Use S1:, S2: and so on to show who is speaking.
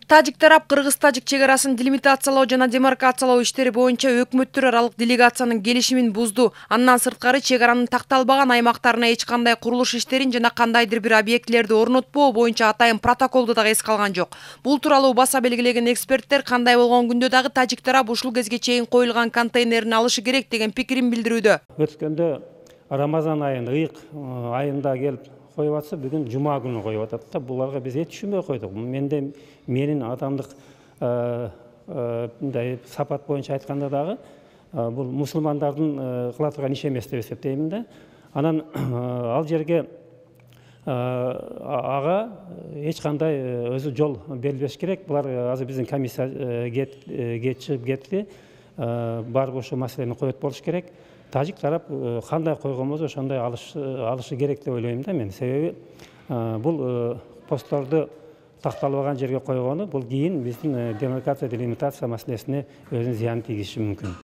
S1: Тажик тарап кыргыз-тажик чек арасын делимитациялоо жана демаркациялоо иштери боюнча өкмөттөр аралык делегациянын келишимин бузду. Андан сырткары чек аранын такталбаган аймактарына эч кандай курулуш иштерин жана кандайдыр бир объектилерди орнотпоо боюнча атайын протоколду дагы эске алган жок. Бул тууралуу баса белгилеген эксперттер кандай болгон күндө дагы тажик тарап ушул кезге чейин коюлган контейнерин алышы керек деген пикирин билдирүүдө.
S2: Өткөндө Рамазан айында, ыйык айында келип коюп атса, бүгүн жума күнү коюп атат да. Буларга биз эч түшүнбөй койдук. Менин адамдык мындай сапат боюнча айтканда дагы бул мусулмандардын кыла турган иши эмес деп эсептеймин да. Анан ал жерге ага эч кандай өзү жол берилбеш керек. Булар азыр биздин комиссия чыгып кетти. Барып ошол маселени коет болуш керек. Тажик тарап кандай койгон болсо ошондой алышы керек деп ойлойм да мен. Себеби бул постторду такталбаган жерге койгону бул кийин биздин демаркация делимитация маселесине өзүнүн зыянын тийгизиши мүмкүн.